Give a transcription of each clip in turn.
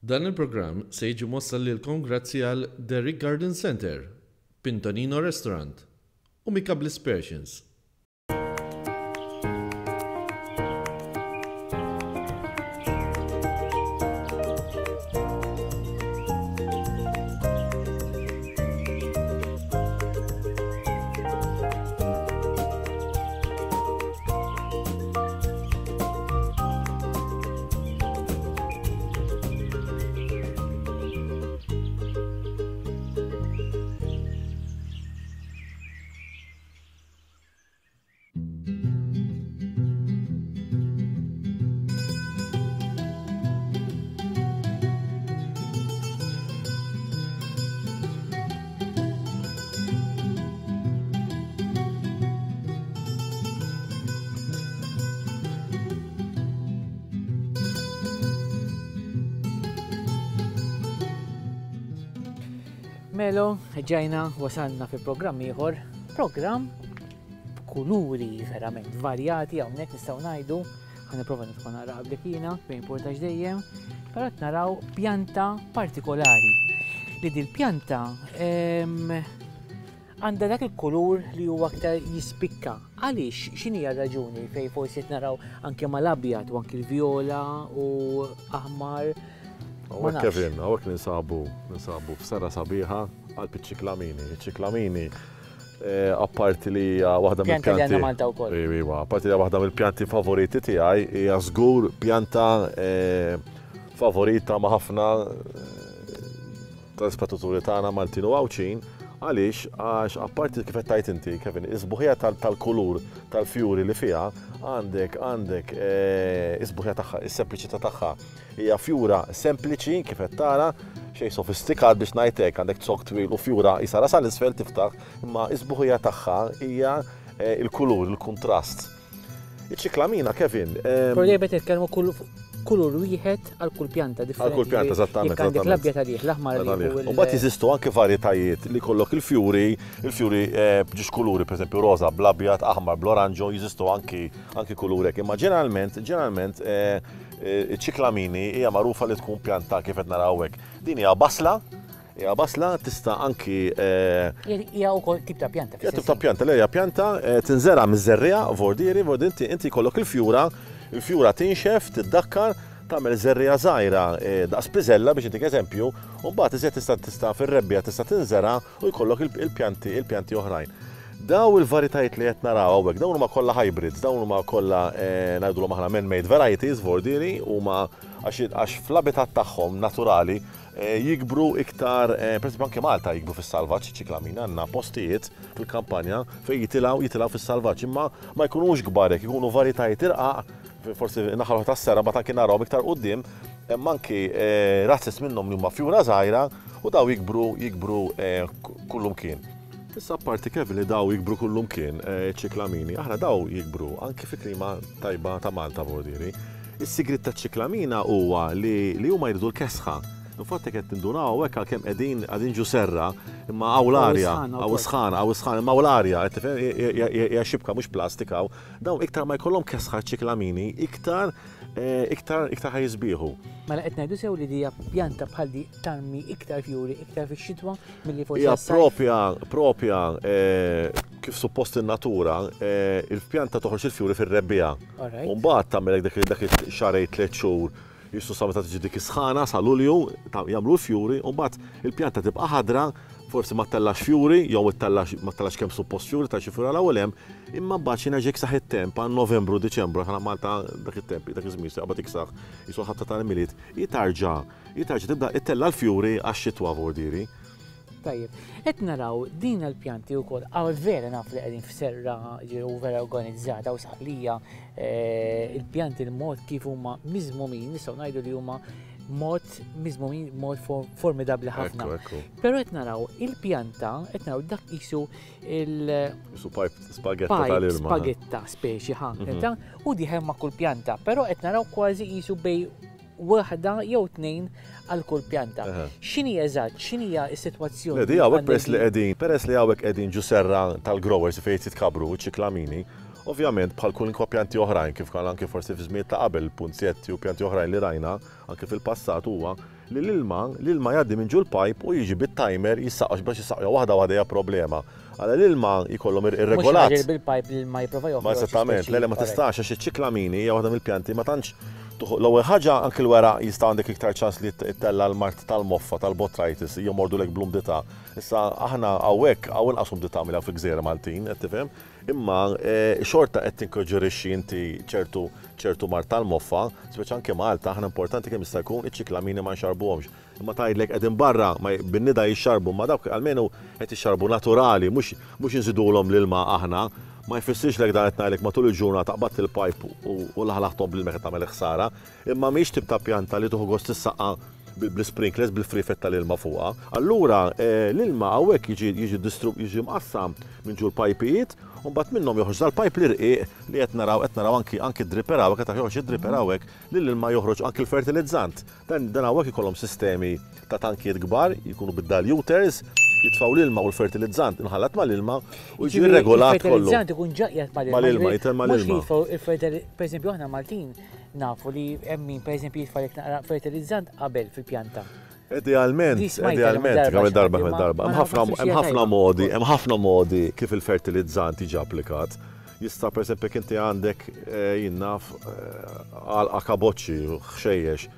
Dan il-programm se jiġi mwassal lilkom grazzi għal Derrick Garden Centre, Pintonino Restaurant u Mika Bliss Persians. Melo, ġajna wasalna fi programm ieħor, programm b'kuluri verament varjati hawnhekk nistgħu ngħidu, ħa nipprova nidħol naqra qablek jiena, ma importax dejjem, però qed naraw pjanta partikolari li dil-pjanta ehm, Għandha dak il-kulur li huwa aktar jispikka. Għaliex? X'inhi r-raġuni fejn forsi qed naraw anke mal-abjad u anke l-vjola u aħmar? Hawnhekk Kevin, hawnhekk ninsabu, ninsabu f'sera sabiħa qalb iċ-ċiklamini. Iċ-ċiklamini eh, apparti li hija waħda mill-pjanti. Pjanta li għandna Malta wkoll. Iva, apparti li hija waħda mill-pjanti favoriti tiegħi, hija żgur pjanta eh, favorita ma' ħafna eh, tal-ispettaturi tagħna Maltin u Għawdxin, għaliex għax apparti kif qed tgħid inti, Kevin, is-sbuħija tal-kulur tal-fjuri li fiha għandek għandek eh, is-sbuħija tagħha, is-sempliċità tagħha. Hija fjura sempliċi kif qed tara, xejn sofistikat biex ngħid hekk, għandek zokk twil u fjura qisha rasha 'l isfel tiftaħ, imma is-sbuħija tagħha hija eh, il-kulur, il-kuntrast. Iċ-ċiklamina, Kevin. Però dejjem qed nitkellmu kulur wieħed għal kull pjanta differenti. Għal kull pjanta, eżattament. Jekk għandek l-abjad għalih, l-aħmar għalih. U mbagħad jeżistu anke varjetajiet li jkollok il-fjuri, il-fjuri eh, b'ġiex kuluri, pereżempju roża bl-abjad, aħmar bl-oranġo, jeżistu anki anki kulur hekk. Imma ġeneralment, ġeneralment eh, eh, iċ-ċiklamini hija magħrufa li tkun pjanta kif qed naraw hekk. Din hija basla, Hija basla tista' anki. Hija wkoll tip ta' pjanta. Hija tip ta' pjanta, le hija pjanta tinżera' miż-żerriegħa vordieri, vordieri inti inti jkollok il-fjura, il-fjura tinxef, tiddakkar, tagħmel żerriegħa żgħira daqs piżella biex intik eżempju, u mbagħad iżjed tista' tista' fir-rebbiegħa tista' tinżera' u jkollok il-pjanti il-pjanti oħrajn. Daw il-varjetajiet li qed naraw hawnhekk, dawn huma kollha hybrids, dawn huma kollha ngħidulhom aħna man-made varieties vordieri, huma għax għax fl-abitat tagħhom naturali Jikbru iktar, pereżempju anke Malta jikbru fis-salvaġġ iċ-ċiklamina, għandna postijiet fil-kampanja fejn jitilgħu jitilgħu fis-salvaġġ, imma ma jkunux kbar hekk, ikunu varjetajiet irqaq, forsi naħa l-oħra tas-serra mbagħad anki narahom iktar quddiem, hemm anki razzez minnhom li huma fjura żgħira u daw jikbru jikbru kullumkien. Issa apparti Kevin li daw jikbru kullumkien, iċ-ċiklamini, aħna daw jikbru anki fi klima tajba ta' Malta vordieri. Is-sigriet taċ-ċiklamina huwa li li huma jridu l-kesħa. Infatti qed tindunaw hawnhekk għalkemm qegħdin qegħdin ġu serra, imma hawn l-arja, hawn is-sħana, hawn is-sħana, imma hawn l-arja, qed tifhem hija xibka mhux plastik hawn. Dawn iktar ma jkollhom kesħa ċ-ċiklamini, iktar iktar iktar ħa jisbieħu. Mela qed ngħidu sew li dija pjanta bħal di tarmi iktar fjuri iktar fix-xitwa milli forsi Hija propja propja kif suppost in-natura, il-pjanta toħroġ il-fjuri fir-rebbiegħa. U mbagħad tagħmel dak dak ix-xahrejn tliet xhur jisu sa meta tiġi dik is-sħana sa Lulju jagħmlu l-fjuri u mbagħad il-pjanta tibqa' ħadra, forsi ma ttellax fjuri jew ittellax ma ttellax kemm suppost fjuri ta' xi fjura 'l hawn u 'l hemm, imma mbagħad xi nerġa' jiksaħ it-temp għal Novembru, Diċembru, aħna Malta dak it-temp, dak iż-żmien se jaqbad iksaħ, jisu l-ħabta tal-Milied, hi tarġa' hi tarġa' tibda ittella' l-fjuri għax-xitwa vordieri. Tajjeb, qed naraw din l-pjanti wkoll, għaw vera naf li qegħdin f'serra ġiru vera organizzata u saqlija eh, il-pjanti l-mod kif huma miżmumin, nistgħu ngħidu li huma mod miżmumin mod formidabbli ħafna. Però qed naraw il-pjanta, qed naraw dak qisu il- Qisu pipe spagetta tal-ilma. Spagetta speċi ħa, mhm. u diħem ma' kull pjanta, però qed naraw kważi qisu bej waħda jew tnejn għal kull pjanta. X'inhi eżatt, x'inhija s-sitwazzjoni? Le, di hawnhekk peress li qegħdin, peress li hawnhekk qegħdin ġu serra tal-growers fejn jitkabbru ċ-ċiklamini, ovvjament bħal kwalunkwe pjanti oħrajn kif kien anke forsi fi żmien ta' qabel punzjetti u pjanti oħrajn li rajna anke fil-passat huwa. li l-ilma, l-ilma jgħaddi minn ġol-pipe u jiġi bit-timer jissaqqax biex jissaqqja waħda waħda hija problema. Għala l-ilma jkollhom irregolat. Mhux bil-pipe l-ilma jipprova joħroġ. Ma eżattament, le le ma tistax għax iċ-ċiklamini hija waħda mill-pjanti ma tantx l-ewwel ħaġa anki l-weraq jista' għandek iktar ċans li ttella' l-mard tal-moffa tal-botrytis jomordulek bl-umdità. Issa aħna hawnhekk hawn inqas umdità milli hawn fil-gżejjer Maltin, qed tifhem? Imma xorta qed tinkoġġorixxi inti ċertu ċertu mard tal-moffa, speċi anke Malta aħna importanti kemm jista' jkun iċ-ċiklamini ma nxarrbuhomx. Imma tgħidlek qegħdin barra ma bin-nida jixxarbu imma dawk almenu qed jixxarbu naturali mhux mhux inżidulhom l-ilma aħna. Ma jfissirx lek dan qed ngħidlek matul il-ġurnata qbadt il-pajp u laħlaħthom bl-ilma qed tagħmel ħsara. Imma mhijiex tip ta' pjanta li tieħu gost tissaqqa bl-isprinklers bil-friefet tal-ilma fuqha. Allura l-ilma hawnhekk jiġi jiġi jiġi mqassam minn ġol pajpijiet u mbagħad minnhom joħroġ dal-pajp l-irqiq li qed naraw qed naraw anki anki d-dripper hawnhekk qed joħroġ id-dripper hawnhekk li l-ilma joħroġ anki l-fertilizzant. Dan dan hawnhekk ikollhom sistemi ta' tankijiet kbar, jkunu bid-diluters, jitfgħu l-ilma u l-fertilizzant imħallat mal-ilma u jiġi rregolat kollu. Il-fertilizzant ikun ġa qiegħed mal-ilma. Mal-ilma, jitel mal-ilma. Mhux jitfgħu il-fertilizzant, pereżempju aħna Maltin nafu li hemm min pereżempju jitfa' naqra fertilizzant qabel fil-pjanta. Idealment, idealment, kemm darba kemm darba. Hemm ħafna modi, hemm ħafna modi kif il-fertilizzant jiġi applikat. Jista' pereżempju jekk inti għandek jien naf għalqa kaboċċi, ħxejjex,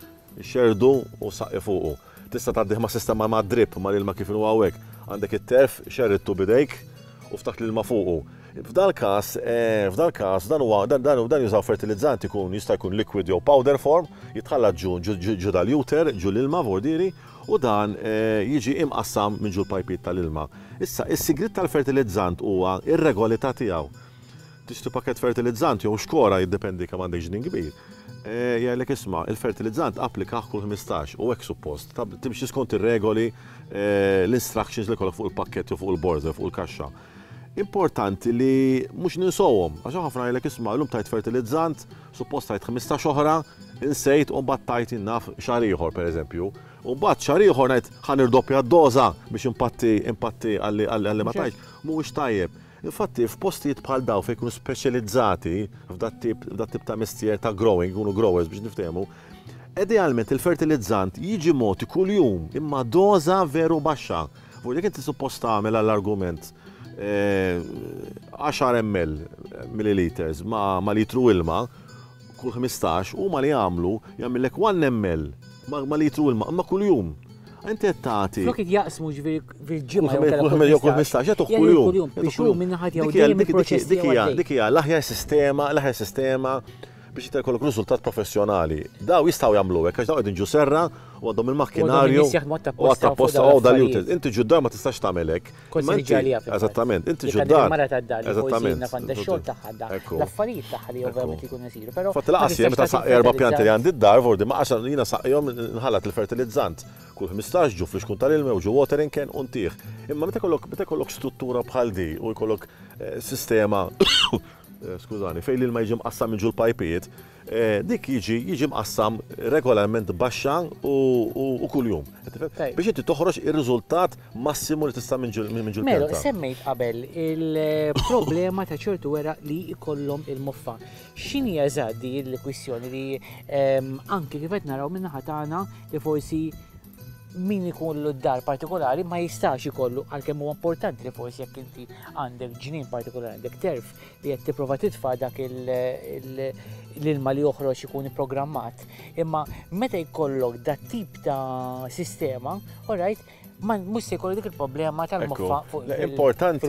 xerrdu u saqqi fuqu. Tista' tgħaddih ma' sistema ma' drip mal-ilma kif inhu hawnhekk. Għandek it-terf, xerridtu b'idejk u ftaħt l-ilma fuqu. F'dal-każ, f'dal-każ dan huwa dan dan jużaw fertilizzant ikun jista' jkun liquid jew powder form, jitħallat ġu ġu diluter, ġu l-ilma vordieri, u dan jiġi imqassam minn ġol-pajpijiet tal-ilma. Issa, is-sigriet tal-fertilizzant huwa r-regolità tiegħu. Tixtri pakkett fertilizzant jew xkora, jiddependi kemm għandek ġnien kbir, jgħidlek isma' il-fertilizzant applikah kull 15 u hekk suppost. Timxi skont ir-regoli, l-instructions li jkollok fuq il-pakkett jew fuq il-borża jew fuq il-kaxxa. Importanti li mhux ninsowhom, għax ħafna jgħidlek isma' llum tajt fertilizzant, suppost tajt 15 oħra, insejt u mbagħad tajt jien naf xahar ieħor pereżempju. U mbagħad xahar ieħor ngħid ħa nirdoppja d-doża biex impatti impatti għalli ma tajtx. Mhuwiex tajjeb. Infatti f'postijiet bħal dawn fejn jkunu speċjalizzati f'dat-tip f'dat-tip ta' mestier ta' growing, jkunu growers biex niftehmu, idealment il-fertilizzant jiġi mogħti kuljum imma doża veru baxxa. Fuq jekk inti suppost tagħmel għall-argument 10 ml milliliters ma' ma' litru ilma kull 15, huma li jagħmlu jagħmillek 1 ml ma' litru ilma imma kuljum. Inti qed tagħti. Flok jaqsmu ġifieri fil-ġimgħa jew kull 15 jagħtuh kuljum. Biex hu minn naħa tiegħu dejjem il-proċess tiegħu. Dik hija l-aħjar sistema, l-aħjar sistema biex inti jkollok riżultat professjonali. Daw jistgħu jagħmlu hekk għax daw qegħdin ġu serra u għandhom il-makkinarju. U għatta posta u dal-jutil. Inti ġuddar ma tistax tagħmel hekk. Eżattament, inti ġuddar. Mara tad-dar eżattament. Għandha xogħol tagħha l-affarijiet tagħha li ovvjament jkunu jsiru. Però Fatt laqas jien meta saqqi erba' pjanti li għandi d-dar, vordi ma għax jiena saqqihom nħallat il-fertilizzant. Kull 15 ġu flixkun tal-ilma u ġu watering can u ntih. Imma meta jkollok meta jkollok struttura bħal di u jkollok eh, sistema eh, skużani, fejn l-ilma jiġi mqassam minn ġul pajpijiet, eh, dik jiġi jiġi mqassam regolarment baxxa u kuljum. Biex inti toħroġ ir-riżultat massimu li tista' minn ġul minn ġul Mela, semmejt qabel il-problema ta' ċertu weraq li jkollhom il-moffa. X'inhi eżatt di l-kwistjoni li ehm, anki kif qed naraw min-naħa tagħna li forsi min ikollu d-dar partikolari ma jistax ikollu għalkemm huwa importanti li forsi jekk inti għandek ġnien partikolari għandek terf li qed tipprova titfa' dak l-ilma li joħroġ ikun ipprogrammat. Imma meta jkollok dat tip ta' sistema, alright, ma mhux se jkollu dik il-problema tal-moffa fuq Importanti,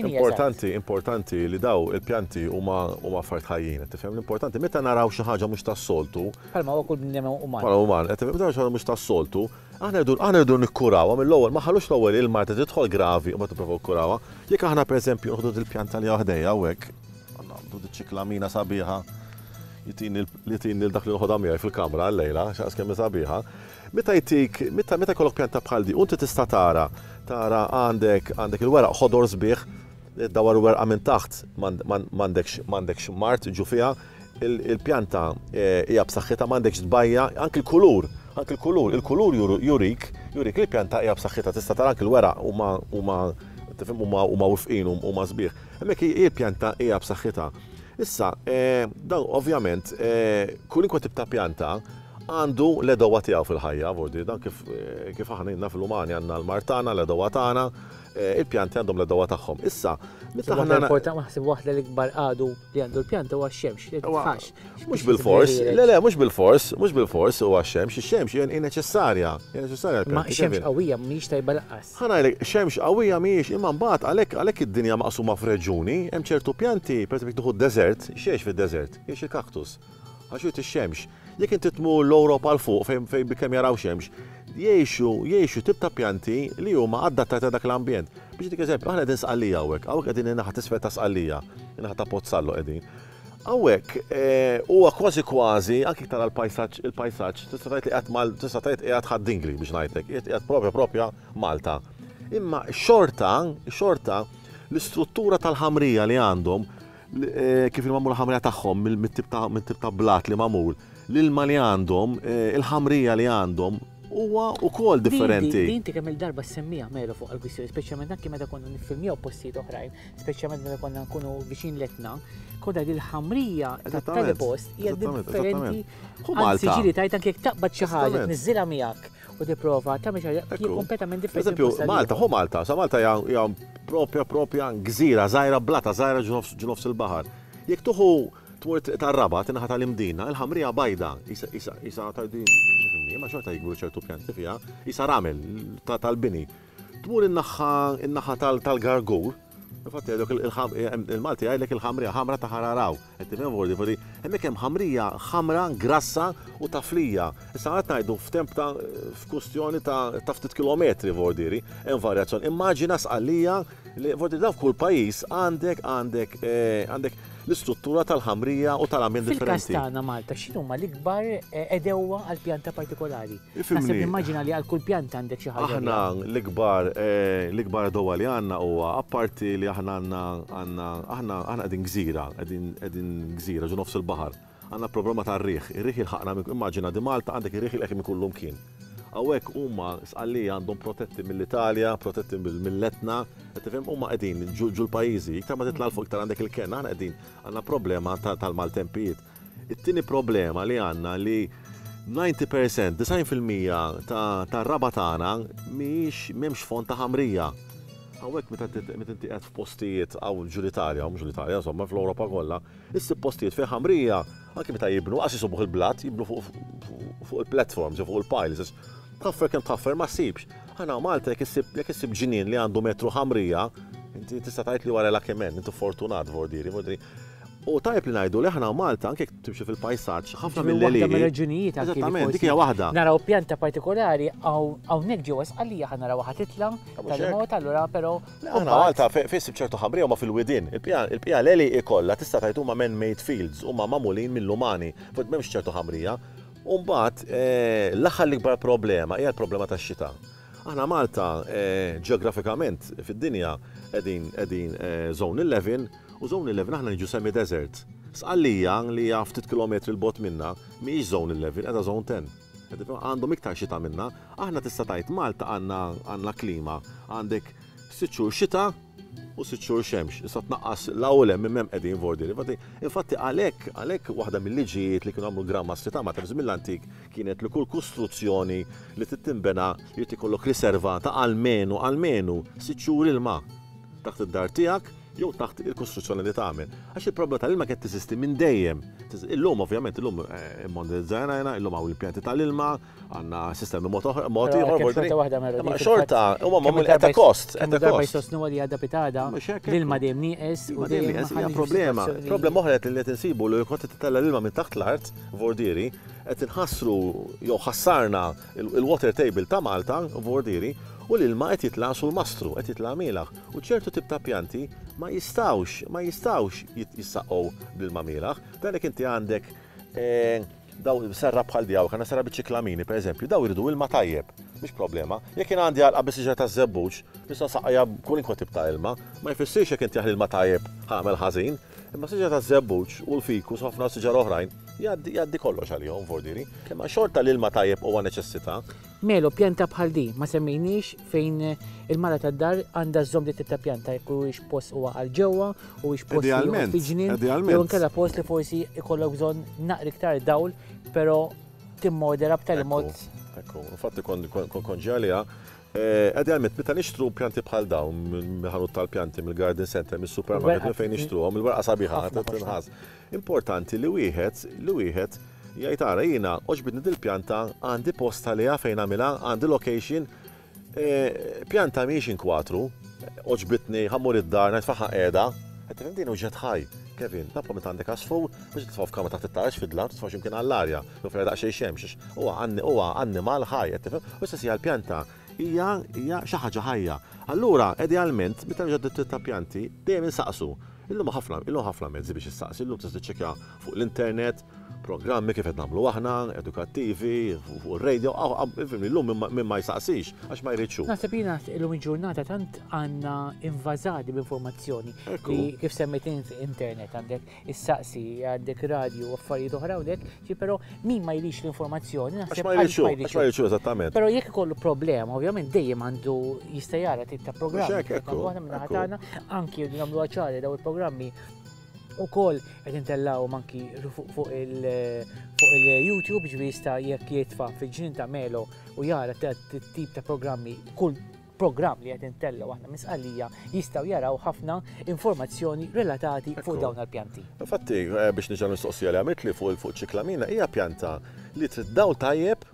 importanti, importanti li daw il-pjanti huma huma affarijiet ħajjin, tifhem l-importanti meta naraw xi ħaġa mhux tas-soltu. Bħalma huwa kull bniedem uman. Bħala uman, qed tifhem meta naraw xi ħaġa mhux tas-soltu, aħna rridu aħna rridu nikkurawha mill-ewwel, ma ħallux l-ewwel il-marda tidħol gravi u mbagħad nipprovaw nikkurawha. Jekk aħna pereżempju nieħdu dil-pjanta li hawn ħdejja hawnhekk, għandu diċ-ċiklamina sabiħa, jtini li tini dak li noħodha miegħi fil-kamra llejla, x'aqs kemm hi sabiħa. Meta jtik, meta meta jkollok pjanta bħal di, u inti tista' tara, tara għandek għandek il-weraq ħodor sbieħ, dawar werqa minn taħt m'għandekx m'għandekx mard ġu fiha, il-pjanta eh, hija b'saħħitha m'għandekx tbajja, anki l-kulur, anki l-kulur, il-kulur jurik, jurik li l-pjanta hija b'saħħitha, tista' tara anki l-weraq huma huma tifhem huma huma wifqin huma sbieħ. Hemmhekk il-pjanta hija b'saħħitha. Issa, eh, dan ovvjament, eh, kulinkwa tip ta' pjanta għandu l-għedewwa tiegħu fil-ħajja, vordi, dan kif kif aħna ilna fil-umani għandna l-mard tagħna, l-għedewwa tagħna, il-pjanti għandhom l-għedewwa tagħhom. Issa, meta aħna Important naħseb waħda l-ikbar għadu li għandu l-pjanta huwa x-xemx, li titfax. Mhux bilfors, le le, mhux bilfors, mhux bilfors huwa x-xemx, ix-xemx hija neċessarja, hija neċessarja għall-pjanti. Ma xemx qawwija mhijiex tajba lanqas. Ħa ngħidlek, xemx qawwija mhijiex, imma mbagħad għalhekk għalhekk id-dinja maqsuma f'reġjuni, hemm ċertu pjanti, pereżempju jekk tieħu d-deżert, x'jgħix fid-deżert? Jgħix il-kaktus. Għax irid ix-xemx. Jekk inti tmur l-Ewropa 'l fuq fejn fejn bilkemm jaraw xemx, jgħixu jgħixu tip ta' pjanti li huma adattati għal dak l-ambjent. Biex nagħtik eżempju, aħna qegħdin Sqallija hawnhekk, hawnhekk qegħdin in-naħa t'isfel ta' Sqallija, in-naħa ta' Pozzallo qegħdin. Hawnhekk huwa kważi kważi, anki jekk tara l-pajsaġġ il-pajsaġġ, tista' tgħid li qiegħed mal tista' tgħid qiegħed Ħad-Dingli biex ngħidlek, qiegħed qiegħed propja propja Malta. Imma xorta, xorta l-istruttura tal-ħamrija li għandhom kif il-magħmul ħamrija tagħhom mit-tip ta' mit-tip ta' blat li magħmul, l-ilma li għandhom, il-ħamrija li għandhom huwa wkoll differenti. Din inti kemm il-darba ssemmiha Melo fuq għall-kwistjoni, speċjalment anki meta konna niffilmjaw postijiet oħrajn, speċjalment meta konna nkunu viċin l-Etna, konna li l-ħamrija tat-tali post hija differenti. Anzi ġieli tgħid anke jekk taqbad xi ħaġa tniżżilha miegħek u tipprova tagħmel xi ħaġa hija kompletament differenti. Eżempju, Malta, ħu Malta, sa Malta hija propja propja gżira żgħira blata żgħira ġo nofs il-baħar. Jekk tuħu tmur triq tar-Rabat, in-naħa tal-Imdina, il-ħamrija bajda, isa ta' din, ma xorta jikbru ċertu pjanti fiha, isa ramel tal-bini. Tmur in-naħa in-naħa tal-Gargur, infatti jgħidlek il-Malti jgħidlek il-ħamrija ħamra ta' ħararaw. Qed tifhem vordi vordi, hemmhekk hemm ħamrija ħamra grassa u taflija. Issa qed ngħidu f'temp ta' f'kustjoni ta' ftit kilometri vordieri, hemm varjazzjoni. Immaġina Sqallija li vordi dawn f'kull pajjiż għandek għandek għandek l-istruttura tal-ħamrija u tal-ambjent differenti. Fil-każ tagħna Malta, x'inhuma l-ikbar għedewwa għal pjanta partikolari? Naħseb nimmaġina li għal kull pjanta għandek xi ħaġa. Aħna l-ikbar l-ikbar għedewwa li għandna huwa apparti li aħna għandna għandna aħna aħna qegħdin gżira, qegħdin qegħdin gżira ġo nofs il-baħar. Għandna problema tar-riħ. Ir-riħ jilħaqna minn immaġina di Malta għandek ir-riħ jilqgħek minn kullumkien. Hawnhekk huma Sqallija għandhom protetti mill-Italja, protetti mill-Etna, qed tifhem huma qegħdin ġul pajjiżi, iktar ma titla' 'l fuq iktar għandek il-kenn, aħna qegħdin għandna problema tal-maltempijiet. It-tieni problema li għandna li 90%, 90% tar-raba' tagħna mhijiex m'hemmx fond ta' ħamrija. Hawnhekk meta inti qiegħed f'postijiet hawn ġul Italja, mhux l-Italja, insomma fl-Ewropa kollha, issib postijiet fejn ħamrija Anki meta jibnu, qas jisubuh il-blat, jibnu fuq il-platforms, fuq il-piles. Tħaffer kemm tħaffer ma ssibx. Aħna Malta jekk issib jekk issib ġnien li għandu metru ħamrija, inti tista' tgħid li wara lucky man, inti fortunat vordieri, vordieri. U tajjeb li ngħidu li aħna Malta anke jekk timxi fil-pajsaġġ, ħafna mill-għelieqi. Waħda mir-raġunijiet anke. Eżattament, dik hija waħda. Naraw pjanta partikolari hawnhekk ġewwa Sqallija ħa narawha ħa titla' tal-mod allura però Aħna Malta fejn issib ċertu ħamrija huma fil-widien. Il-bqija l-għelieqi kollha tista' tgħid huma man-made fields, huma magħmulin mill-umani, fuq m'hemmx ċertu ħamrija. U mbagħad l-aħħar l-ikbar problema hija l-problema tax-xita. Aħna Malta ġeografikament fid-dinja qegħdin qegħdin zone 11 u zone 11 aħna niġu semi-desert. Sqallija li hija ftit kilometri 'l bogħod minna mhijiex zone 11, qiegħda zone 10. Għandhom iktar xita minna. Aħna tista' tgħid Malta għandna għandna klima, għandek sitt xhur xita u sitt xhur xemx. Issa tnaqqas 'l hawn u 'l hemm minn hemm qegħdin vordieri. Infatti, infatti għalhekk għalhekk waħda mill-liġijiet li kienu għamlu l-Gran Mastri ta' Malta fi żmien l-antik kienet li kull kostruzzjoni li trid tinbena jrid ikollok riserva ta' almenu almenu sitt xhur ilma taħt id-dar tiegħek jew taħt il-kostruzzjoni li tagħmel. Għax il-problema tal-ilma kienet teżisti minn dejjem. Illum ovvjament illum immodernizzajna, illum hawn l-impjanti tal-ilma, għandna sistemi mod ieħor. Xorta waħda mela. Ma xorta huma magħmul at a cost. Kemm darba jsostnu li għadha pitada, l-ilma dejjem nieqes u dejjem nieqes hija problema. Problema oħra li qed insibu li kont titella' l-ilma minn taħt l-art, vordieri, qed inħassru jew ħassarna il-water table ta' Malta, vordieri, u l-ilma qed jitla' sul mastru, qed jitla' mielaħ. U ċertu tip ta' pjanti ma jistgħux, ma jistgħux jissaqqgħu bl-ilma mielaħ. Dan jekk inti għandek daw serra bħal di hawn, għandna serra biċ-ċiklamini pereżempju, daw iridu ilma tajjeb, mhix problema. Jekk jien għandi għalqa bi siġra taż-żebbuġ, nista' nsaqqajha b'kwalunkwe tip ta' ilma, ma jfissirx jekk inti ilma tajjeb ħa nagħmel ħażin, imma siġra taż-żebbuġ u l-fikus u ħafna siġar oħrajn jgħaddi jgħaddi kollox għalihom vordieri. Imma xorta l-ilma tajjeb huwa neċessità. Melo, pjanta bħal di, ma semmejniex fejn il-mara tad-dar għandha żżomm dit tip ta' pjanta jekk huwiex post huwa għal ġewwa, huwiex post li huwa fi ġnien, jew inkella post li forsi ikollok bżonn naqra iktar dawl, però. timmodera b'tali mod. Ekku, infatti kon ġi għaliha. Idealment, meta nixtru pjanti bħal dawn mill-ħanut tal-pjanti, mill-garden center, mis-supermarket, minn fejn nixtruhom, il-werqa sabiħa tinħass. Importanti li wieħed li wieħed jgħid ara jiena għoġbitni dil-pjanta għandi post għaliha fejn nagħmilha, għandi location, Pjanta mhijiex inkwatru, għoġbitni, ħa mmur id-dar, ngħid faħħa qiegħda. Qed tifhem din uġġett ħaj. Kevin, tappa meta għandek għasfur, mhux titfgħu f'kamra taħt it-taraġ fid-dlam, titfgħu x'imkien għall-arja, jew fejn daqsxejn xemx, għax huwa huwa annimal ħaj, qed tifhem? U l-istess hija l-pjanta, hija hija xi ħaġa ħajja. Allura, idealment, meta niġu għad ta' pjanti, dejjem insaqsu. Illum ħafna, illum ħafna mezzi biex issaqsi, illum tista' tiċċekkja fuq l-internet, programmi kif qed nagħmlu aħna, edukattivi, fuq ir-radio, illum min ma jsaqsix għax ma jridx hu. Naħseb jiena illum il-ġurnata tant għandna invażati b'informazzjoni li kif semmejt int internet għandek issaqsi, għandek radio u affarijiet oħra hawnhekk, ġi però min ma jridx l-informazzjoni naħseb għax ma jridx hu, għax ma jridx hu eżattament. Però jekk ikollu problema, ovvjament dejjem għandu jista' jara tip ta' programmi. Aħna anki nagħmluha ċari daw il-programmi Ukoll qed intellgħuhom anki fuq il-YouTube, ġifieri jista' jekk jitfa' fil-ġnien ta' Melo u jara tip ta' programmi, kull programm li qed intellgħu aħna minn Sqallija jistgħu jaraw ħafna informazzjoni relatati fuq dawn il-pjanti. Infatti, eh, biex niġa mistoqsija li għamiltli fuq fuq ċiklamina hija pjanta li trid dawl tajjeb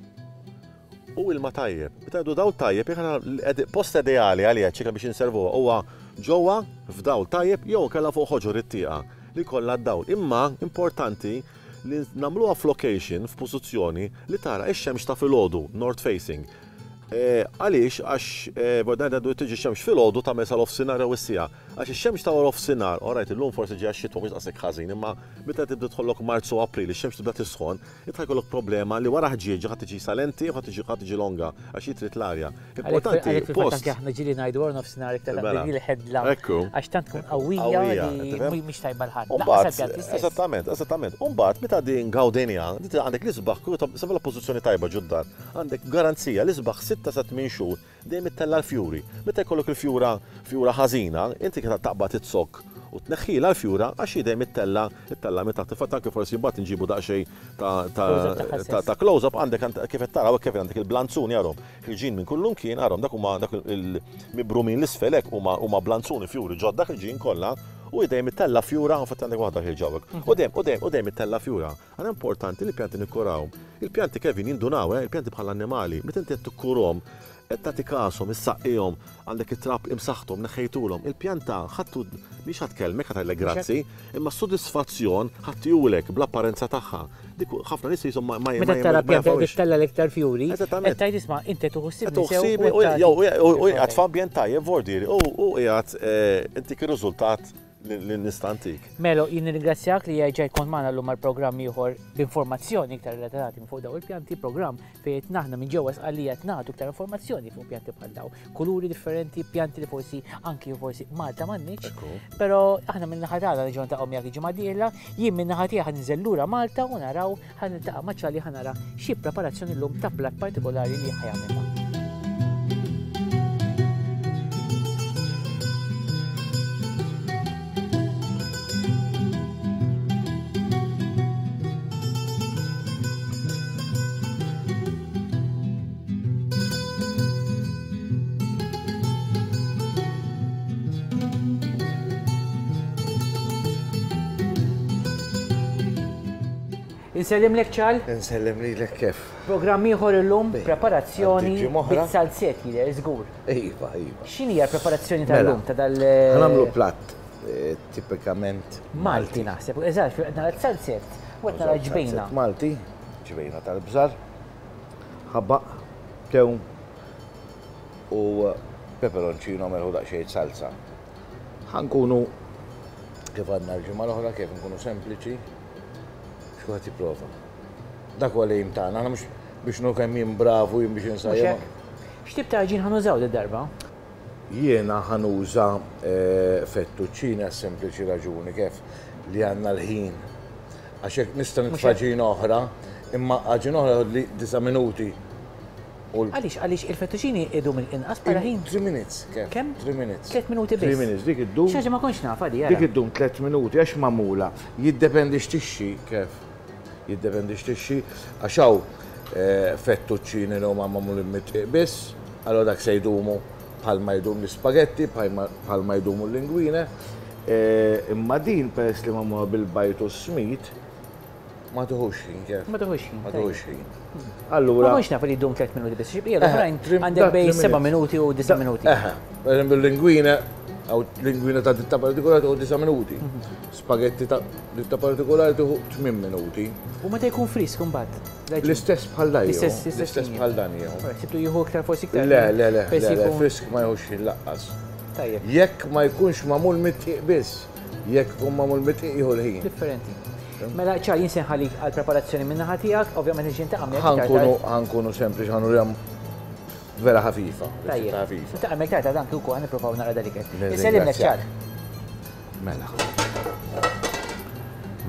u ilma tajjeb. Meta ngħidu dawl tajjeb, jekk post ideali għaliha ċikla biex inservuha huwa ġewwa f'dawl tajjeb jew inkella fuq ħoġor it-tieqa li jkollha d-dawl. Imma importanti li nagħmluha f'location, f'pożizzjoni li tara x-xemx ta' filgħodu, north facing. Għaliex? Għax ngħidu tiġi x-xemx filgħodu tagħmel sa nofsinhar jew is-siegħa. Għax ix-xemx ta' wara nofsinhar, all right, illum forsi ġejja x-xitwa mhux daqshekk ħażin, imma meta tibda tidħollok Marzu u April ix-xemx tibda tisħon, Int ħa jkollok problema li wara ħġieġa ħa tiġi salenti u ħa tiġi ħa tiġi longa għax hi trid l-arja. Importanti. Għalhekk fil-fatt anke aħna ġieli ngħidu wara nofsinhar iktar mela. taqbel il-ħedla. Ekku. Għax tant tkun qawwija li mhix tajba l-ħadd. Eżattament, eżattament. U mbagħad meta din gawdenja, għandek l-isbaħ, sabla pożizzjoni tajba ġud-dar, għandek garanzija l-isbaħ sitta sa tmien xhur Dejjem ittella' l-fjuri. Meta jkollok il-fjura fjura ħażina, inti kif taqbad iz-zokk u tneħħilha l-fjura għax hi dejjem ittella' ittella' minn taħt. Infatti anke forsi mbagħad inġibu daqsxejn ta' ta' ta' close up għandek kif qed taraw hekk għandek il-blanzuni arhom ħirġin minn kullimkien arhom dak huma dak il-mibrumin 'l isfel hekk huma huma blanzuni fjuri ġodda ħirġin kollha u hi dejjem ittella' fjura infatti għandek waħda ħierġa hawnhekk u dejjem u dejjem u dejjem ittella' fjura. Għala importanti li l-pjanti nikkurawhom? Il-pjanti, Kevin, jindunaw, eh, il-pjanti bħal annimali, meta inti qed tikkurhom, qed tagħti kashom, issaqqihom, għandek it-trab imsaħħthom, neħħejtulhom, il-pjanta ħadd mhix ħa tkellmek, ħa tgħidlek grazzi, imma s-sodisfazzjon ħa tihulek bl-apparenza tagħha. Dik ħafna nies qishom ma ma Meta tara pjanta qed ittella' l-iktar fjuri, qed tgħid isma' inti qed tieħu ħsiebni sew u qiegħed f'ambjent tajjeb, vordieri, u qiegħed intik ir-riżultat li nista' ntik. Melo, jien nirringrazzjak li erġajt kont magħna llum għal programm ieħor b'informazzjoni iktar relatati fuq dawn il-pjanti, programm fejn qed naħna minn ġewwa Sqallija qed nagħtu iktar informazzjoni fuq pjanti bħal dawn. Kuluri differenti, pjanti li forsi anki forsi Malta m'għandniex. Però aħna minn naħa tagħna nerġgħu niltaqgħu miegħek il-ġimgħa dieħla, jien minn naħa tiegħi ħa ninżel lura Malta u naraw Ħa niltaqa' ma' Charlie ħa nara xi preparazzjoni llum ta' platt partikolari li ħa jagħmilna. Insellimlek Ċal. Insellem lilek kif. Programm ieħor illum, preparazzjoni bit-salzett jidher żgur. Iva, iva. X'inhi l-preparazzjoni tal-lum ta' dal. Mela, ħa nagħmlu platt tipikament Malti naħseb, eżatt, qed nara salzett u qed nara ġbejna. Malti, ġbejna tal-bżar, ħabaq, tewm u peperoncino melħu daqsxejn salsa. Ħa nkunu kif għadna l-ġimgħa l-oħra kif nkunu sempliċi biex kulħadd jipprova. Dak huwa l-aim tagħna, aħna mhux biex nuru kemm jien bravu jien biex insajjem. X'tip ta' għaġin ħa nużaw did-darba? Jiena ħa nuża fettuccine għas-sempliċi raġuni kif li għandna l-ħin. Għax hekk nista' nitfa' għaġina oħra, imma għaġina oħra jieħodli disa' minuti. Għaliex, għaliex il-fettuccini idum inqas bħala ħin? 3 minutes. Kemm? 3 minutes. 3 minuti biss. 3 minutes, dik iddum. Xi ħaġa ma kontx nafha di, ara. Dik iddum 3 minuti għax magħmula. Jiddependi x'tixxi, kif? Jiddependi x'tixxi, għax hawn. Fettuccini li huma magħmulin mid-dqiq biss, allura dak se jdumu bħalma jdum l-ispagetti, bħalma jdumu l-linguine. Imma din peress li magħmula bil-bajd u s-smid, ma tieħux ħin kif. Ma tieħux ħin. Ma tieħux ħin. Allura. Ma kontx naf li jdum 3 minuti biss, xi l-oħrajn għandek bejn 7 minuti u 9 minuti. Eħe, per eżempju l-linguine, għaw linguine ta' ditta partikolari tieħu 9 minuti. Spagetti ta' ditta partikolari tieħu 8 minuti. U meta jkun frisk imbagħad? L-istess bħal dan. L-istess bħal dan jieħu. Sibtu jieħu iktar forsi iktar. Le, le, le, le, frisk ma jieħux ħin laqqas. Tajjeb. Jekk ma jkunx magħmul mit-tqiq biss, jekk ikun magħmul mit-tqiq jieħu l-ħin. Differenti. Mela ċar jien se nħallik għall-preparazzjoni min-naħa tiegħek, ovvjament niġi ntaqa' miegħek iktar tard. Ħa nkunu sempliċi ħa nurihom vera ħafifa. Tajjeb. Ntaqa' miegħek tard għad anki wkoll ħa nippruvaw naqra dal-ikel. Insellimlek ċar. Mela.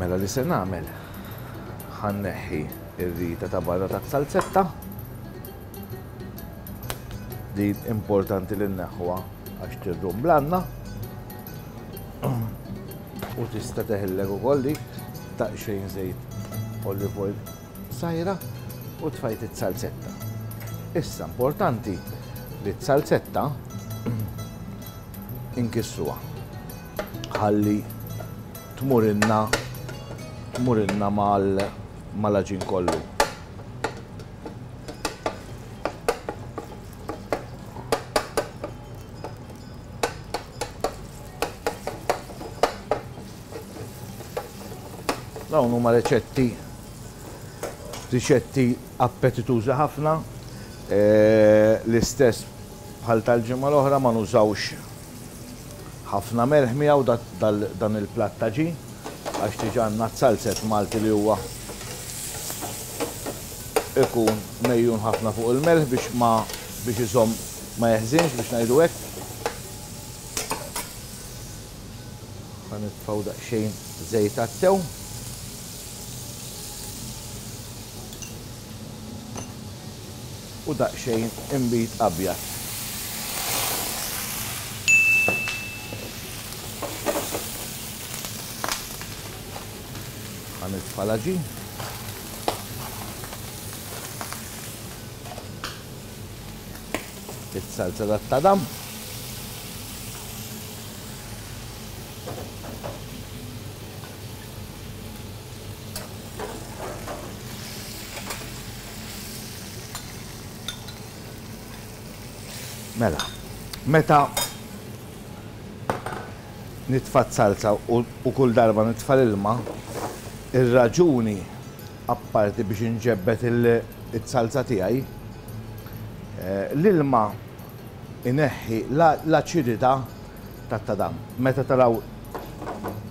Mela li se nagħmel ħa nneħħi r-rita ta' barra tat-salzetta. Din importanti li nneħħuha għax tirrumblanna. U tista' teħillek ukoll dik daqsxejn żejt olive oil sajra u tfajt it-salzetta. Issa importanti li t-salzetta inkissuha ħalli tmurinna tmurinna mal-għaġin kollu. Dawn huma riċetti riċetti appetitużi ħafna. L-istess bħal tal-ġimgħa l-oħra ma nużawx ħafna melħ miegħu dan il-platt ta' ġin għax diġà għandna z-zalzett Malti li huwa ikun mejjun ħafna fuq il-melħ biex ma biex iżomm ma jeħżinx biex ngħidu hekk. Ħa nitfgħu daqsxejn żejt għat-tewm. U daqsxejn inbid abjad. Ħa nitfa' l-għaġin. Is-salza tat-tadam. Mela, meta nitfa' salza u kull darba nitfa' l-ilma, ir-raġuni apparti biex inġebbed il-salza tiegħi, l-ilma ineħħi l-aċidità tat-tadam. Meta taraw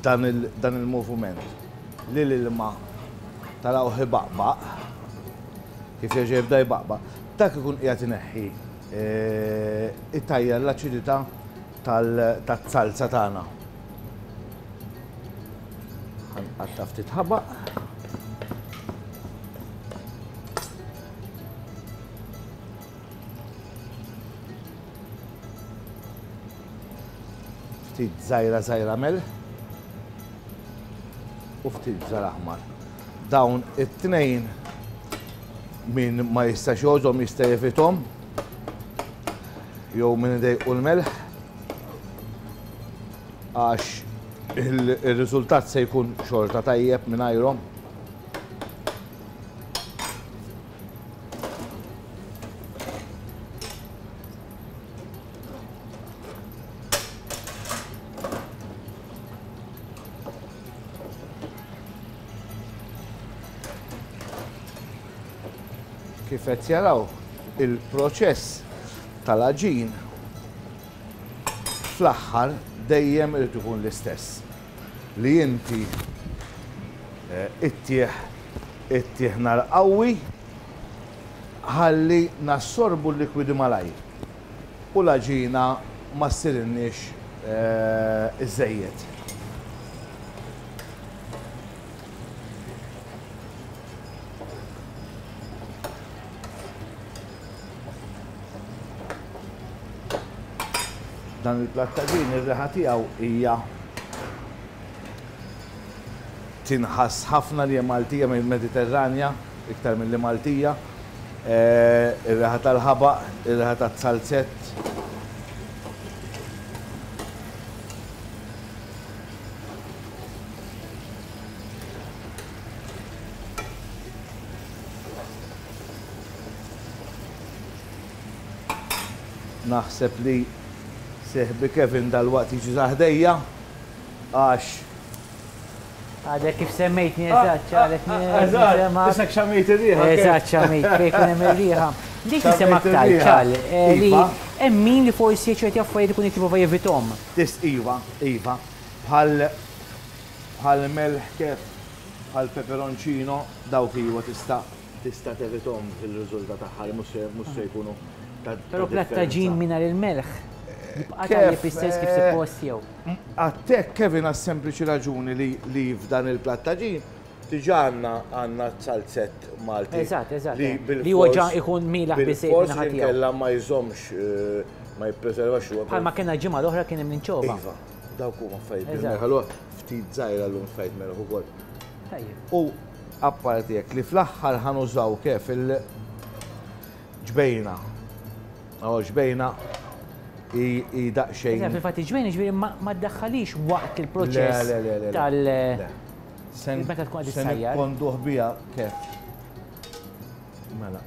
dan il-moviment li l-ilma tarawh ibaqbaq, kif jerġa' jibda jbaqbaq, dak ikun qiegħed ineħħi itajjar l-aċidità tat-salza tagħna. Ħa nqatta' ftit ħabaq. Ftit żgħira żgħira melħ u ftit bżar aħmar. Dawn it-tnejn min ma jistax jgħożhom jista' jevithom jew min idejqu l-melħ għax il-riżultat se jkun xorta tajjeb mingħajrhom. Kif qed jaraw, il-proċess tal-għaġin fl-aħħar dejjem irid ikun l-istess. Li inti ittieħ ittieħ nar qawwi ħalli nassorbu l-likwidi malajr u l-għaġina ma ssirilniex iżżejjed. Dan il-platt ta' ġin ir-riħa tiegħu hija tinħass ħafna li hija Maltija mill-Mediterranja iktar milli Maltija. Ir-riħa tal-ħabaq, ir-riħa tat-salzett. Naħseb li seħbi Kevin dalwaqt jiġi sa ħdejja għax Għadek kif semmejtni eżatt, ċarek Eżatt, isek xamejt ir-riħa. Eżatt, xamejt, fejn ikun hemm ir-riħa. Dik nisem aktar ċal, li iva. hemm min li forsi ċerti affarijiet ikun jipprova jevithom. Tis iva, iva, bħal bħal melħ kef, bħal peperoncino, dawk iva tista' tista' tevithom fil-riżultat aħħari mhux se jkunu ta' Però platt taġin mingħajr il-melħ jibqa' tajjeb istess kif suppost jew. Għattek Kevin għas-sempliċi raġuni li li f'dan il-platt taġin diġà għandna għandna zalzett Malti. Eżatt, eżatt. Li Li huwa ġa ikun mielaħ biżżejjed min-naħa tiegħu. Inkella ma jżommx ma jippreservax ruħu. Bħalma kellna l-ġimgħa l-oħra kien hemm l-inċova. Iva, dawk huma affarijiet bil-melħ. Allura ftit żgħira llum tfajt melħ ukoll. Tajjeb. U apparti hekk li fl-aħħar ħa nużaw kif il-ġbejna. Oh, ġbejna hi daqsxejn. Eżatt, fil-fatt il-ġbejna ġifieri ma ddaħħalix waqt il-proċess tal. Meta tkun qed issajjar. Se nikkonduh biha kif. Mela.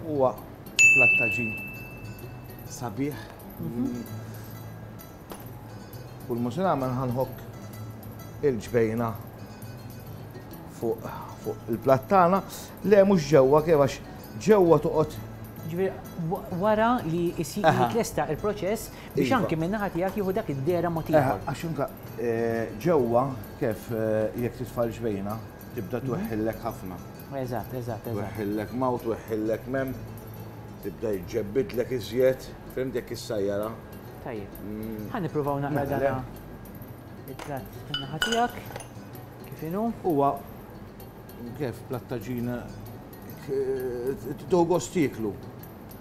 Huwa platt taġin sabiħ. Kull ma se nagħmel ħa nħokk il-ġbejna fuq fuq il-platt tagħna. Le mhux ġewwa kif għax ġewwa toqgħod. Ġifieri wara li jitlesta il-proċess biex iva. anki min-naħa tiegħek jieħu dak id-dehra mod ieħor. Għax anke ġewwa kif jekk titfa' l-ġbejna tibda tweħħillek ħafna. Eżatt, eżatt, eżatt. Tweħħillek ma' u tweħħillek m'hemm, tibda jġebbidlek iżjed, fhimt jekk issajjarha. Tajjeb. Ħa nippruvaw naqra Mela, dana il-platt min-naħa tiegħek. Kif inhu? Huwa kif platt taġina tieħu gost tieklu.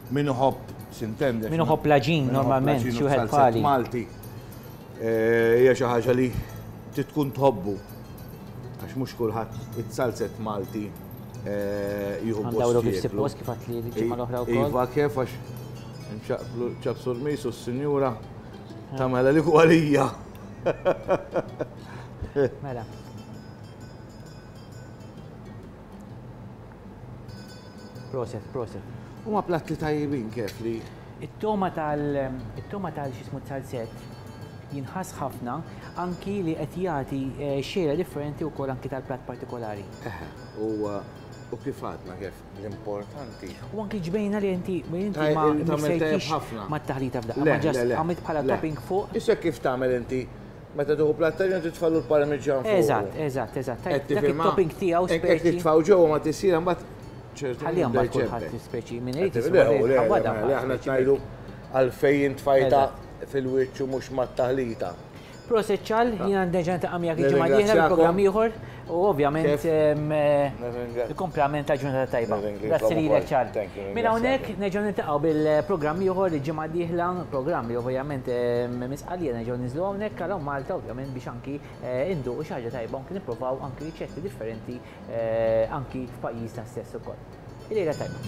Min iħobb, s'intende. Min iħobb l-għaġin normalment, xi wieħed bħali. Malti. Hija xi ħaġa li trid tkun tħobbu. Għax mhux kulħadd it-salzett Malti jieħu gost. Għandawlu kif suppost kif għedt li l-ġimgħa l-oħra wkoll. Iva kif għax nċaqplu ċabsu l-mis u s-sinjura tagħmel għalik u għalija. Mela. Proset, proset. Huma platti tajjibin kif li. It-toma tal it-toma tal x'ismu salzett jinħass ħafna anki li qed jagħti xejra differenti wkoll anki tal-platt partikolari. Eħe, u kif għadna kif l-importanti. U anki ġbejna li inti li inti ma mixejtix mat-taħlita f'daqqa, ma ġast għamilt bħala topping fuq. Issa kif tagħmel inti meta tieħu platt taġin titfallu l-parmiġġan fuq. Eżatt, eżatt, eżatt. Dak it-topping tiegħu speċi. Hekk titfgħu ġewwa ma tisir imbagħad ċertu. Ħalli mbagħad kulħadd speċi min irid Le, aħna ngħidu għalfejn tfajta fil-wiċċ u mhux mat-taħlita. Proset ċal, jiena nerġa' niltaqa' miegħek il-ġimgħa d-dieħla bi programm ieħor u ovvjament il-komplament ta' ġurnata tajba. Grazzi lilek ċal. Minn hawnhekk nerġgħu niltaqgħu bil-programm ieħor il-ġimgħa d-dieħla, programm li ovvjament minn Sqallija nerġgħu ninżlu hawnhekk għal hawn Malta ovvjament biex anki induqu xi ħaġa tajba anki nipprovaw anki riċetti differenti anki f'pajjiżna stess ukoll. Il-lejla tajba.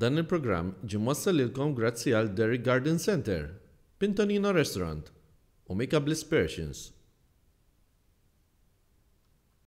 Dan il-programm ġie mwassal lilkom grazzi għal Derrick Garden Centre, Pintonino Restaurant u Mika Bliss Persians.